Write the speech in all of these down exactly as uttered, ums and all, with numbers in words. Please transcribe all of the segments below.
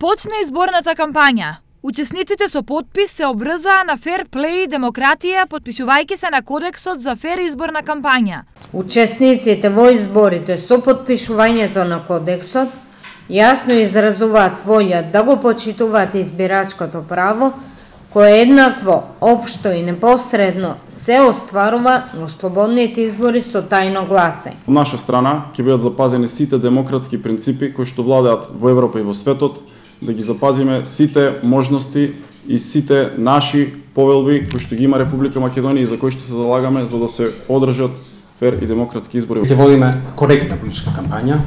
Почна изборната кампања. Учесниците со потпис се обврзаа на фер плей и демократија, потпишувајќи се на кодексот за фер изборна кампања. Учесниците во изборите со потпишувањето на кодексот јасно изразуваат волја да го почитуваат избирачкото право, кое еднакво, општо и непосредно се остварува на слободните избори со тајно гласање. Од наша страна ќе бидат запазени сите демократски принципи кои што владеат во Европа и во светот, да ги запазиме сите можности и сите наши повелби кои што ги има Република Македонија и за кои што се залагаме за да се одржат фер и демократски избори. Ќе водиме коректна политичка кампања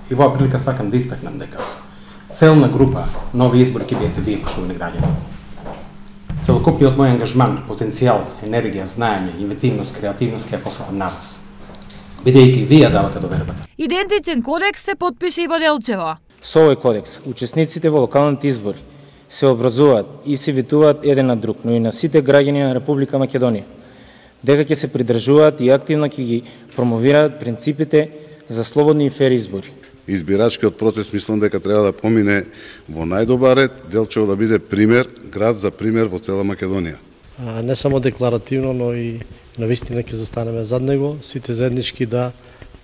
и во прилика сакам да истакнам дека целна група нови избори ќе бидете вие, поштовани граѓани. Целокупниот мој ангажман, потенцијал, енергија, знаење, инвентивност, креативност ќе ја посветам на вас, бидејќи вие давате довербата. Идентичен кодекс се потпише и во Делчево. Со овој кодекс, учесниците во локалните избори се образуваат и се ветуваат еден на друг, но и на сите граѓани на Република Македонија, дека ќе се придржуваат и активно ќе ги промовираат принципите за слободни и фер избори. Избирачкиот процес мислам дека треба да помине во најдобар ред, Делчево да биде пример, град за пример во цела Македонија. А, не само декларативно, но и навистина ќе застанеме зад него, сите заеднички да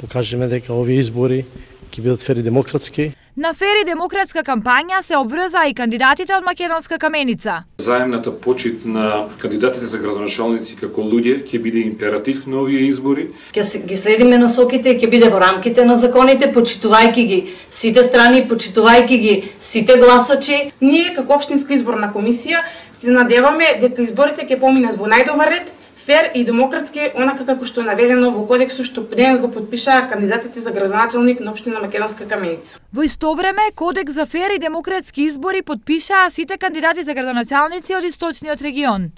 покажеме дека овие избори ќе бидат фер и демократски. На фер и демократска кампања се обврзаа и кандидатите од Македонска каменица. Заемната почит на кандидатите за градоначалници како луѓе ќе биде императив на овие избори. Ќе ги следиме насоките, ќе биде во рамките на законите, почитувајќи ги сите страни, почитувајќи ги сите гласачи. Ние како општинска изборна комисија се надеваме дека изборите ќе поминат во најдобар ред, фер и демократски, онака како што е наведено во кодексот што денес го потпишаа кандидатите за градоначалник на општина Македонска каменица. Во исто време, кодекс за фер и демократски избори потпишаа сите кандидати за градоначалници од источниот регион.